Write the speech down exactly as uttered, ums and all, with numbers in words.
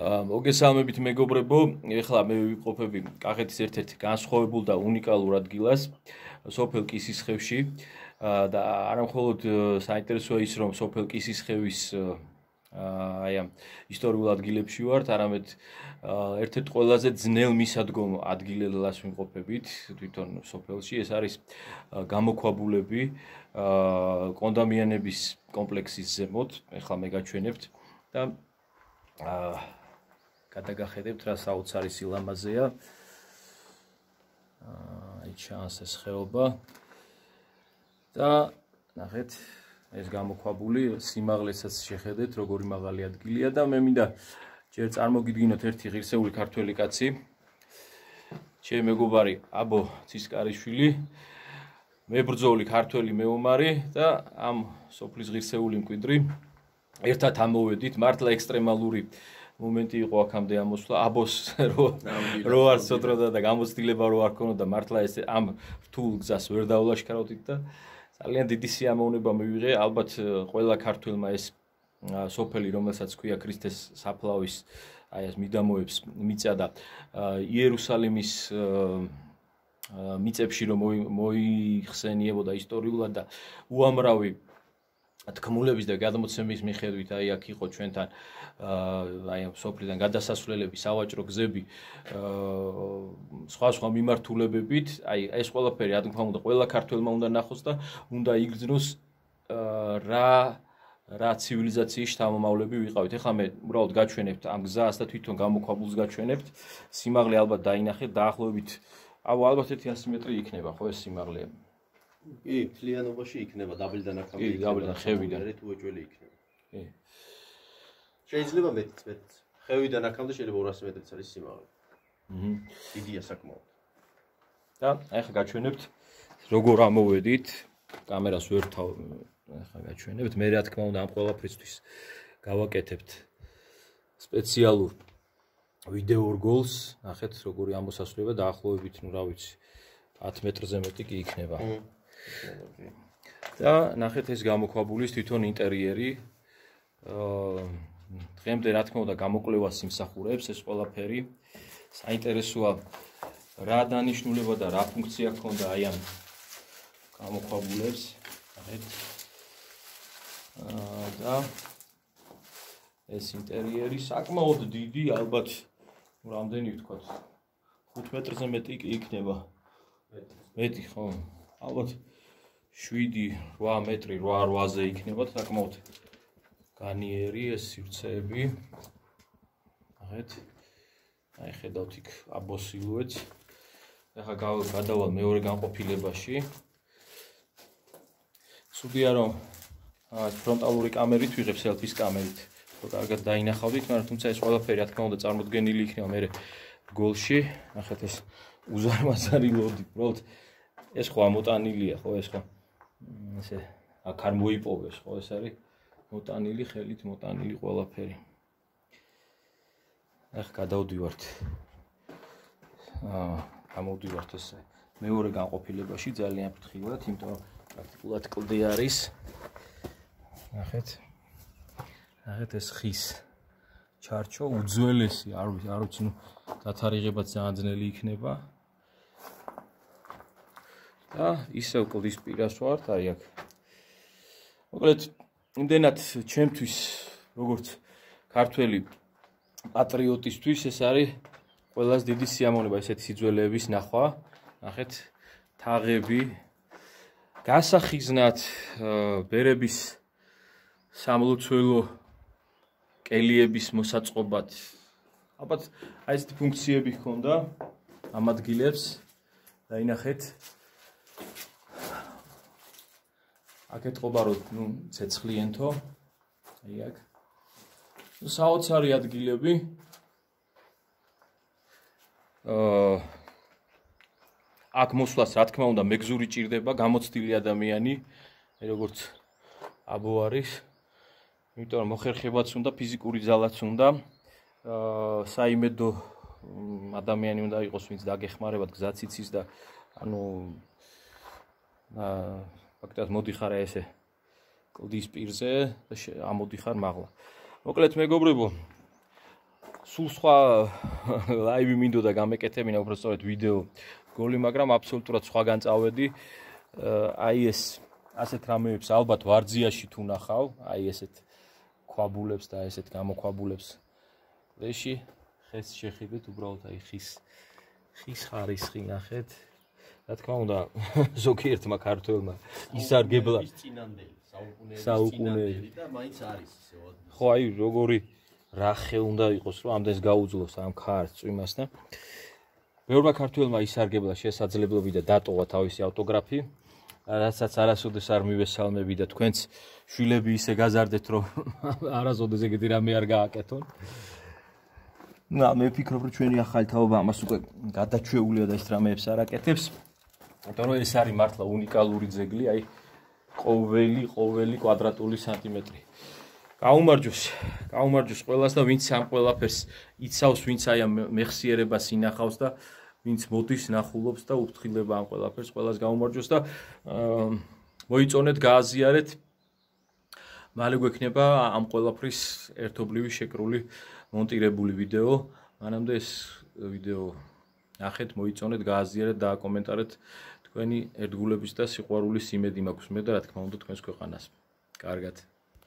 მოგესალმებით მეგობრებო, ეხლა მე ვიყოფები კახეთის ერთ-ერთ განსხვავებულ და უნიკალურ ადგილას, სოფელ კისისხევში და არა მხოლოდ საინტერესოა ის, რომ სოფელ კისისხევის აი ამ ისტორიულ ადგილებში ვართ, არამედ ერთ-ერთ ყველაზე ძნელ მისადგომ ადგილას ვიმყოფებით თვითონ სოფელში. ეს არის გამოქვაბულები კონდამიანების კომპლექსის ზემოთ. ეხლა მე გაჩვენებთ და გადაგახედებთ რა საოცარი სილამაზეა. აი ჩანს ეს ხეობა და ნახეთ ეს გამოქვაბული სიმაღლესაც შეხედეთ როგორი მაღალი ადგილია და მე მინდა ჯერ წარმოგიდგინოთ ერთი ღირსეული ქართველი კაცი, ჩემი მეგობარი აბო ცისკარიშვილი, მებრძოლი ქართველი მეომარი და ამ სოფლის ღირსეული მკვიდრი. ერთად ამოვედით, მართლა ექსტრემალური მომენტი იყო აქამდე ამოსვლა, აბოს რო არ სოდროდა და გამოცდილება რო არ ქონოდა, მართლა ეს ამ რთულ გზას ვერ დაულაშქარავდით და ძალიან დიდი სიამოვნება მივიღე, ალბათ ყველა ქართველმა ეს სოფელი, რომელსაც ქვია ქრისტეს საფლავის, აი ეს მიდამოებს მიწა და იერუსალიმის მიწებში რომ მოიხსენიებოდა ისტორიულად და უამრავი თქმულების და გადმოცემის მიხედვით აი აქ იყო ჩვენთან აი ამ სოფლიდან გადასასვლელები, სავაჭრო გზები, სხვა სხვა მიმართულებებით, აი ეს ყველაფერი რა თქმა უნდა ყველა ქართველმა უნდა ნახოს და უნდა იგრძნოს რა რა ცივილიზაციის შთამომავლები ვიყავით. ეხლა მე უბრალოდ გაჩვენებთ ამ გზას და თვითონ გამოქვაბულს გაჩვენებთ. სიმაღლე ალბათ დაინახეთ, დაახლოებით ალბათ ერთი მეტრი იქნება ხო ეს სიმაღლე? კი, მთლიანობაში იქნება დაბლიდან აქამდე. კი, დაბლიდან ხევიდან. თუ ეჭველი იქნება. კი. შეიძლება მეტიც, მეტიც. ხევიდან აქამდე შეიძლება ორასი მეტრიც არის სიმაღლე. აჰა. დიდია საკმაოდ. და ახლა გაჩვენებთ როგორ ამოვედით. კამერას ვერ თავ ახლა გაჩვენებთ. მე რა თქმა უნდა ამ ყველაფრისთვის გავაკეთებთ სპეციალურ ვიდეო რგოლს. ნახეთ როგორი ამოსასვლელია დაახლოებით, ну, რა ვიცი, ათი მეტრზე მეტი კი იქნება. და ნახეთ ეს გამოქვაბულის თვითონ ინტერიერი. აა დღემდე რა თქმა უნდა გამოკვლევას იმსახურებს ეს ყველაფერი. საინტერესოა რა დანიშნულება და რა ფუნქცია ჰქონდა აი ამ გამოქვაბულებს. ნახეთ. აა და ეს ინტერიერი საკმაოდ დიდი, ალბათ რამდენი ვთქვათ, ხუთ მეტრზე მეტი კი იქნება. მეტი ხო? ალბათ შვიდი რვა მეტრი, რვა რვაზე იქნება საკმაოდ განიერი ეს სივრცეები. ნახეთ. აი ხედავთ იქ აბოს სილუეტს. ახლა გადავალ მეორე განყოფილებაში. ცუდია რომ ფრონტალური კამერით ვიღებ სელფის კამერით. ხო კარგად დაინახავდით, მაგრამ თუმცა ეს ყველაფერი რა თქმა უნდა წარმოდგენილი იქნება მე რგოლში. ნახეთ ეს უზარმაზარი ლოდი, უბრალოდ ეს ხო ამოტანილია, ხო ეს ხო ესე აქ არ მოიპოვეს, ხო ეს არის მოტანილი, ხელით მოტანილი ყველაფერი. ახ გადავდივართ. აა გამოვდივართ ესე მეორე განყოფილებაში ძალიან ფრთხილად, იმიტომ რომ პრაქტიკულად კლდე არის. ნახეთ. ნახეთ ეს ხის ჩარჩო უძველესი, არ ვიცი, არ ვიცი, ნუ დათარიღებაც ძალიან ძნელი იქნება. და ისევ კლდის პირას ვართ, აი აქ. მოკლედ, იმდენად ჩემთვის, როგორც ქართველი პატრიოტისთვის, ეს არის ყველას დიდი სიამოვნება ესეთი სიძველეების ნახვა. ნახეთ, თაღები, გასახიზნად ბერების სამლოცველო კელიების მოსაწყობად. ალბათ აი ესეთი ფუნქციები ჰქონდა ამ ადგილებს. დაინახეთ. აქ ეთყობა რომ ნუ ცეცხლიენთო. აი აქ. საოცარი ადგილები. აა აქ მოსვლას რა თქმა უნდა მეგზური ჭირდება, გამოცდილი ადამიანი, როგორც აბო არის. იმიტომ რომ მოხერხებაც უნდა, ფიზიკური ძალაც უნდა. აა საიმედო ადამიანი უნდა იყოს, ვინც დაგეხმარებათ გზაც იცის და ანუ აა ფაქტობრივად მოდიხარ ესე კლდის პირზე და ამოდიხარ მაღლა. მოკლედ მეგობრებო, სულ სხვა ლაივი მინდოდა გამეკეთებინა, უბრალოდ ვიდეო გოლი, მაგრამ აბსოლუტურად სხვაგან წავედი. აი ეს ასეთ რამეებს ალბათ ვარძიაში თუ ნახავ, აი ესეთ ქვაბულებს და ესეთ გამოქვაბულებს ლეში, ხეს შეხედეთ, უბრალოდ აი ხის ხის ხარისხი ნახეთ. რა თქმა უნდა, ზოგიერთმა ქართველმა ისარგებლა წინანდელი, საუკუნეების საუკუნეები წინანდელი და მაინც არის ისე. ხო, აი როგორი რახე უნდა იყოს, რომ ამდენს გაუძლოს ამ ქარს წვიმასთან. ბევრმა ქართველმა ისარგებლა შესაძლებლობი და დატოვა თავისი ავტოგრაფი, რასაც არასოდეს არ მივესალმები და თქვენც შვილები ისე გაზარდეთ, რომ არასოდეს ეგეთი რამე არ გააკეთონ. და მე ვფიქრობ, რომ ჩვენი ახალი თაობა ამას უკვე გადაჩვეულია და ეს რამეებს არ აკეთებს. იმიტომ რომ ეს არის მართლა უნიკალური ძეგლი, აი ყოველი ყოველი კვადრატული სანტიმეტრი. გაუმარჯოს, გაუმარჯოს ყველას და ვინც ამ ყველაფერს იცავს, ვინც აი ამ მეხსიერებას ინახავს და ვინც მოდის ნახულობს და უფრთხილება ამ ყველაფერს, ყველას გაუმარჯოს და მოიწონეთ, გააზიარეთ. მალე გვექნება ამ ყველაფრის ერთობლივი შეკრული მონტირებული ვიდეო. მანამდე ეს ვიდეო ნახეთ, მოიწონეთ, გააზიარეთ და აკომენტარეთ. თქვენი ერთგულების და სიყვარულის იმედი მაქვს მე და რა თქმა უნდა თქვენს ქვეყანას. კარგად.